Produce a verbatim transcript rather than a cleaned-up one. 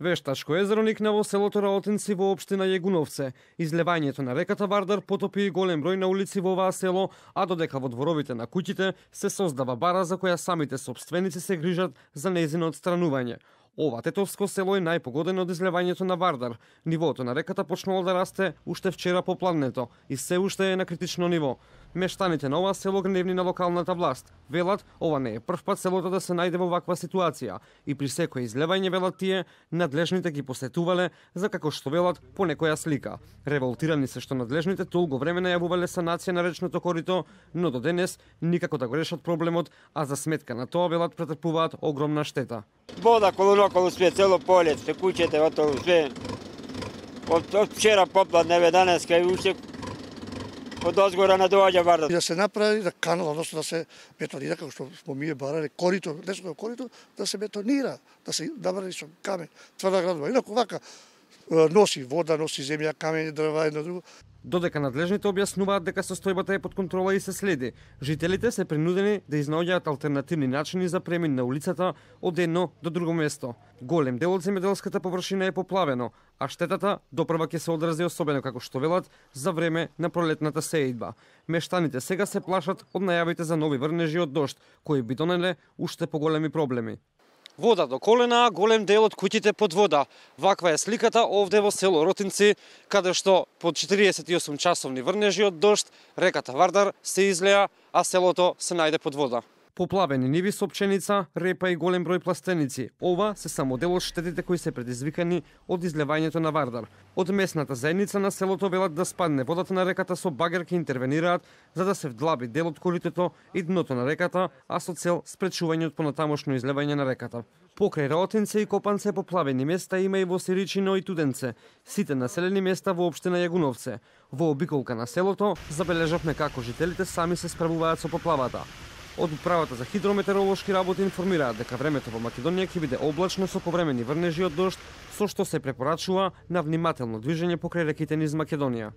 Вештачко езеро никна во селото Раотинци во општина Јегуновце. Излевањето на реката Вардар потопи и голем број на улици во оваа село, а додека во дворовите на куќите се создава бара за која самите сопственици се грижат за нејзино отстранување. Ова тетовско село е најпогодено од излевањето на Вардар. Нивото на реката почнало да расте уште вчера попладнето и се уште е на критично ниво. Мештаните на ова село гневни на локалната власт. Велат, ова не е прв пат селото да се најде во ваква ситуација и при секој излевање, велат тие, надлежните ги посетувале за како што велат по некоја слика. Револтирани се што надлежните толку време најавувале санација на речното корито, но до денес никако да го решат проблемот, а за сметка на тоа велат претрпуваат огромна штета. Вода колу све, цело поле, се куќете, отолу све. Од, од вчера попладне, еве данеска и уште од озгора не доаѓа Вардар. Да се направи да канал, односно да се бетонира, како што smo ми барале, корито, лесното корито, да се бетонира, да се набрави со камен, тврда градова. Инаку вака носи вода, носи земја, камења, дрва, едно друго. Додека надлежните објаснуваат дека состојбата е под контрола и се следи, жителите се принудени да изнаоѓаат алтернативни начини за премин на улицата од едно до друго место. Голем дел од земјоделската површина е поплавено, а штетата допрва ќе се одрази особено, како што велат, за време на пролетната сеидба. Мештаните сега се плашат од најавите за нови врнежи од дожд, кои би донеле уште поголеми проблеми. Вода до колена, голем дел од куќите под вода. Ваква е сликата овде во село Ротинци, каде што под четириесет и осум часовни врнежи од дожд, реката Вардар се излеа, а селото се најде под вода. Поплавени ниви со пченица, репа и голем број пластеници. Ова се само дел од штетите кои се предизвикани од излевањето на Вардар. Од местната заедница на селото велат да спадне водата на реката со багер ке интервенираат за да се вдлаби дел од коритото и дното на реката, а со цел спречување од понатамошно излевање на реката. Покрај Раотинце и Копанце поплавени места има и во Сиричино и Туденце, сите населени места во општина Јегуновце. Во обиколка на селото забележавме како жителите сами се справуваат со поплавата. Од управата за хидрометеоролошки работи информираат дека времето во Македонија ќе биде облачно со повремени врнежи од дожд, со што се препорачува на внимателно движење покрај реките низ Македонија.